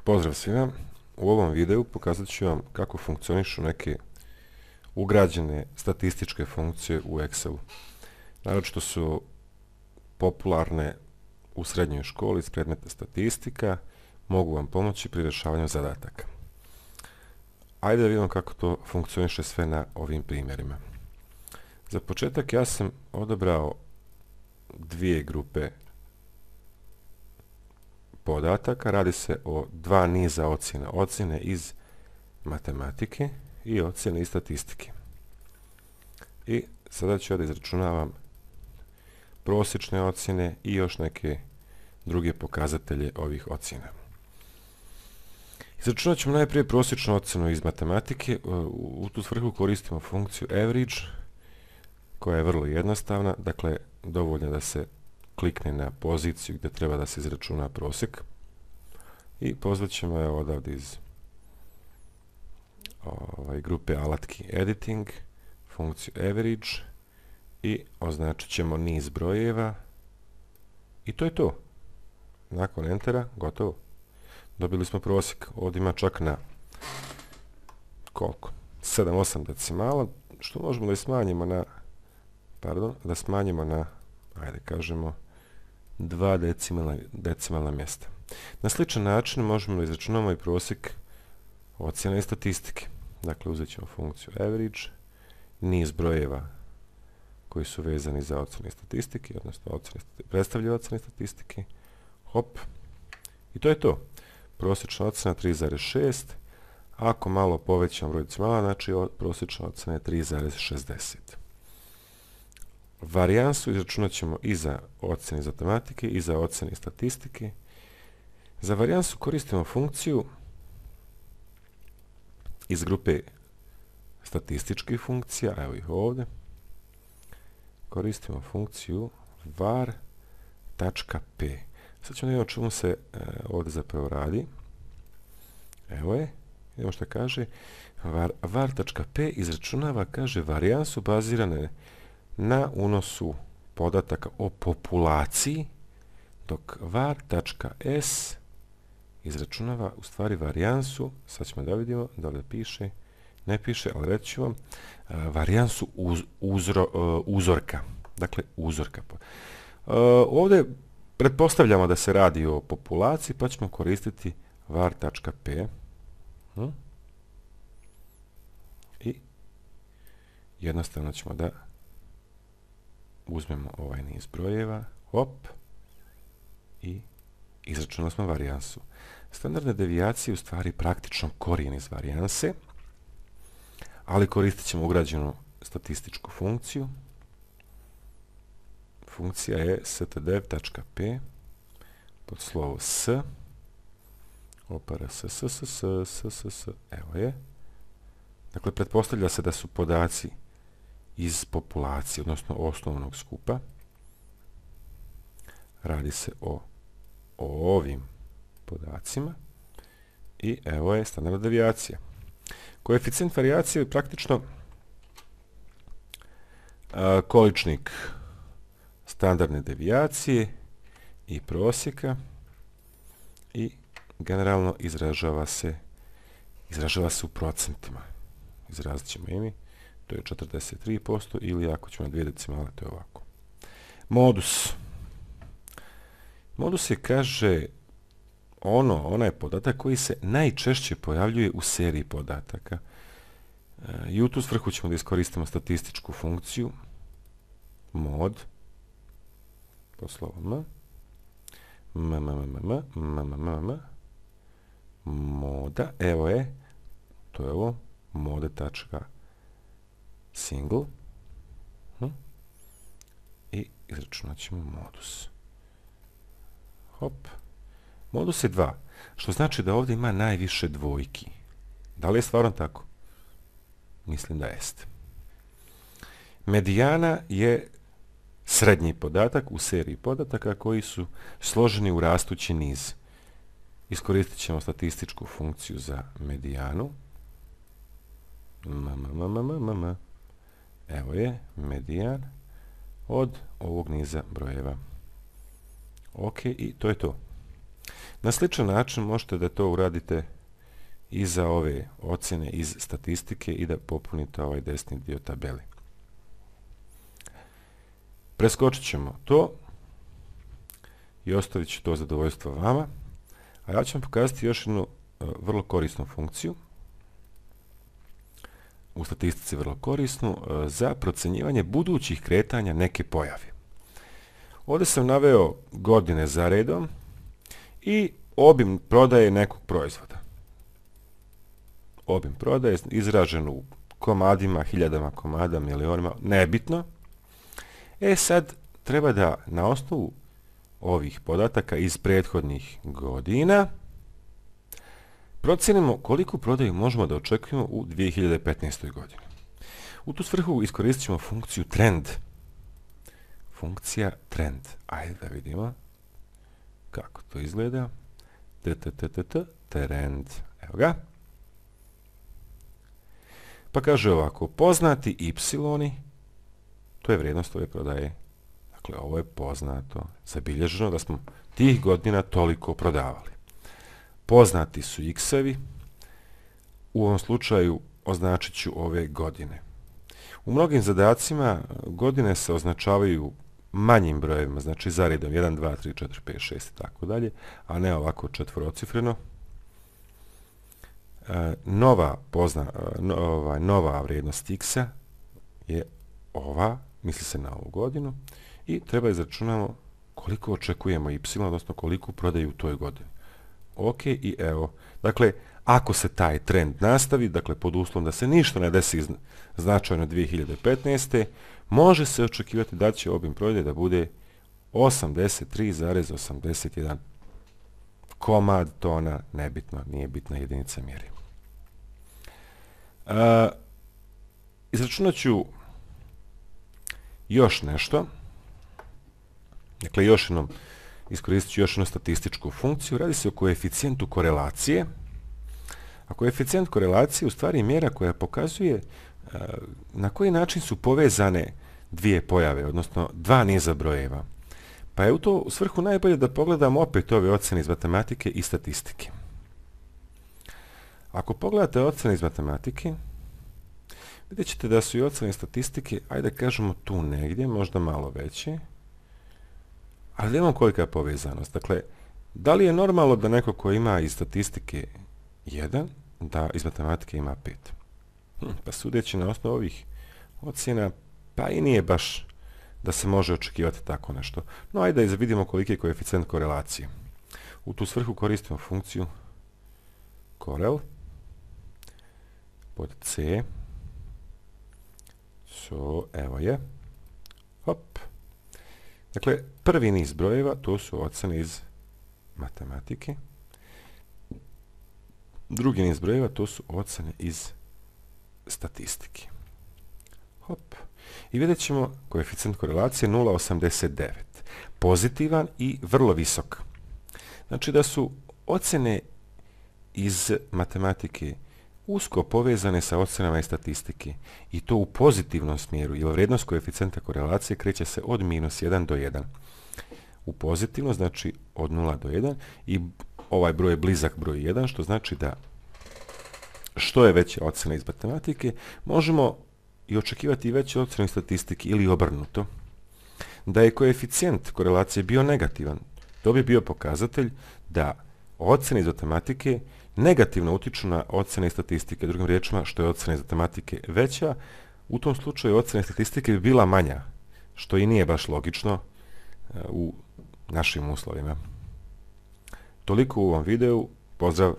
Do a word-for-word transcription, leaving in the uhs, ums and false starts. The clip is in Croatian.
Pozdrav svima, u ovom videu pokazat ću vam kako funkcionišu neke ugrađene statističke funkcije u Excelu. Naročito su popularne u srednjoj školi iz predmeta statistika, mogu vam pomoći pri rješavanju zadataka. Ajde da vidimo kako to funkcioniše sve na ovim primjerima. Za početak ja sam odabrao dvije grupe podataka. Radi se o dva niza ocjena. Ocjene iz matematike i ocjene iz statistike. I sada ću ja da izračunavam prosječne ocjene i još neke druge pokazatelje ovih ocjena. Izračunat ćemo najprije prosječnu ocjenu iz matematike. U tu svrhu koristimo funkciju average, koja je vrlo jednostavna. Dakle, dovoljno da se klikne na poziciju gdje treba da se izračuna prosjek i pozvat ćemo je odavde iz ovaj, grupe alatki editing, funkciju average i označit ćemo niz brojeva i to je to. Nakon entera, gotovo. Dobili smo prosjek. Ovdje ima čak na koliko? sedam osam decimala, što možemo da smanjimo na pardon, da smanjimo na ajde kažemo dva decimalna, decimalna mjesta. Na sličan način možemo da izračunamo i prosjek ocjena i statistike. Dakle, uzet ćemo funkciju average, niz brojeva koji su vezani za ocjene i statistike, odnosno ocjene, predstavljaju ocjene i statistike. Hop. I to je to. Prosječna ocjena tri zarez šest. Ako malo povećam broj decimala, znači prosječna ocjena je tri zarez šezdeset. Varijansu izračunat ćemo i za ocjene iz matematike i za ocjene iz statistike. Za varijansu koristimo funkciju iz grupe statističkih funkcija, evo ih ovdje. Koristimo funkciju var.p. Sad ćemo vidjeti o čemu se e, ovdje zapravo radi. Evo je, vidimo što kaže. Var, var.p izračunava, kaže, varijansu bazirane na unosu podataka o populaciji, dok var.s izračunava u stvari varijansu, sad ćemo da vidimo da li piše, ne piše, ali reći ću vam, varijansu uz, uzro, uh, uzorka. Dakle, uzorka. Uh, ovdje pretpostavljamo da se radi o populaciji, pa ćemo koristiti var.p. Hm? I jednostavno ćemo da uzmemo ovaj niz brojeva, hop, i izračunali smo varijansu. Standardne devijacije u stvari praktično korijen iz varijanse, ali koristit ćemo ugrađenu statističku funkciju. Funkcija je stdev.p pod slovo s, opara s, s, s, s, s, s, s, evo je. Dakle, pretpostavlja se da su podaci iz populacije, odnosno osnovnog skupa. Radi se o, o ovim podacima i evo je standardna devijacija. Koeficijent varijacije je praktično a, količnik standardne devijacije i prosjeka i generalno izražava se izražava se u procentima. Izrazit ćemo imi. To je četrdeset tri posto ili ako ćemo na dvije decimale, to je ovako. Modus. Modus je, kaže, ono, onaj podatak koji se najčešće pojavljuje u seriji podataka. I u tu svrhu ćemo da iskoristimo statističku funkciju mod po slovo m m m m m m m m moda, evo je, to je ovo, mode.single hm? I izračunat ćemo modus. Hop. Modus je dva, što znači da ovdje ima najviše dvojki. Da li je stvarno tako? Mislim da jeste. Medijana je srednji podatak u seriji podataka koji su složeni u rastući niz. Iskoristit ćemo statističku funkciju za medijanu. M, m, m, m, m, m. Evo je medijan od ovog niza brojeva. Ok, i to je to. Na sličan način možete da to uradite i za ove ocjene iz statistike i da popunite ovaj desni dio tabeli. Preskočit ćemo to i ostavit ću to zadovoljstvo vama, a ja ću vam pokazati još jednu uh, vrlo korisnu funkciju, u statistici vrlo korisnu, uh, za procjenjivanje budućih kretanja neke pojave. Ovdje sam naveo godine za redom i obim prodaje nekog proizvoda. Obim prodaje izražen u komadima, hiljadama komada, milionima, nebitno. E sad treba da na osnovu ovih podataka iz prethodnih godina procijenimo koliku prodaju možemo da očekujemo u dvije hiljade petnaestoj godini. U tu svrhu iskoristit ćemo funkciju trend. Funkcija trend. Ajde da vidimo kako to izgleda. Trend. Evo ga. Pa kaže ovako, poznati y, to je vrijednost ove prodaje. Dakle, ovo je poznato, zabilježeno da smo tih godina toliko prodavali. Poznati su x-evi, u ovom slučaju označit ću ove godine. U mnogim zadacima godine se označavaju manjim brojevima, znači za redom jedan, dva, tri, četiri, pet, šest i tako dalje, a ne ovako četvorocifreno. E, nova, pozna, no, ovaj, nova vrijednost x-a je ova, misli se na ovu godinu, i treba izračunamo koliko očekujemo y, odnosno koliko prodaju u toj godini. Ok, i evo, dakle, ako se taj trend nastavi, dakle, pod uslovom da se ništa ne desi značajno dvije hiljade petnaeste. može se očekivati da će obim prodaje da bude osamdeset tri zarez osamdeset jedan komad, tona, nebitno, nije bitna jedinica mjeri. Uh, izračunat ću još nešto. Dakle, još jednom iskoristit ću još jednu statističku funkciju. Radi se o koeficijentu korelacije. A koeficijent korelacije u stvari je mjera koja pokazuje uh, na koji način su povezane dvije pojave, odnosno dva niza brojeva. Pa je u to u svrhu najbolje da pogledamo opet ove ocjene iz matematike i statistike. Ako pogledate ocjene iz matematike, vidjet ćete da su i ocjene iz statistike, ajde da kažemo tu negdje, možda malo veće, ali da imamo kolika je povezanost. Dakle, da li je normalno da neko ko ima iz statistike jedan, da iz matematike ima pet? Hm, pa sudeći na osnovu ovih ocjena, pa i nije baš da se može očekivati tako nešto. No, ajde da vidimo koliki je koeficijent korelacije. U tu svrhu koristimo funkciju corel pod c. So, evo je. Hop. Dakle, prvi niz brojeva, to su ocjene iz matematike. Drugi niz brojeva, to su ocjene iz statistike. Hop. I vidjet ćemo koeficijent korelacije nula zarez osamdeset devet. Pozitivan i vrlo visok. Znači da su ocjene iz matematike usko povezane sa ocjenama iz statistike. I to u pozitivnom smjeru, jer vrijednost koeficijenta korelacije kreće se od minus jedan do jedan. U pozitivno znači od nula do jedan i ovaj broj je blizak broj jedan, što znači da što je veća ocjena iz matematike, možemo i očekivati veće ocjene iz statistike ili obrnuto. Da je koeficijent korelacije bio negativan, to bi bio pokazatelj da ocjene iz matematike negativno utiču na ocjene iz statistike. Drugim riječima, što je ocjena iz matematike veća, u tom slučaju ocjena iz statistike bi bila manja, što i nije baš logično uh, u našim uslovima. Toliko u ovom videu. Pozdrav!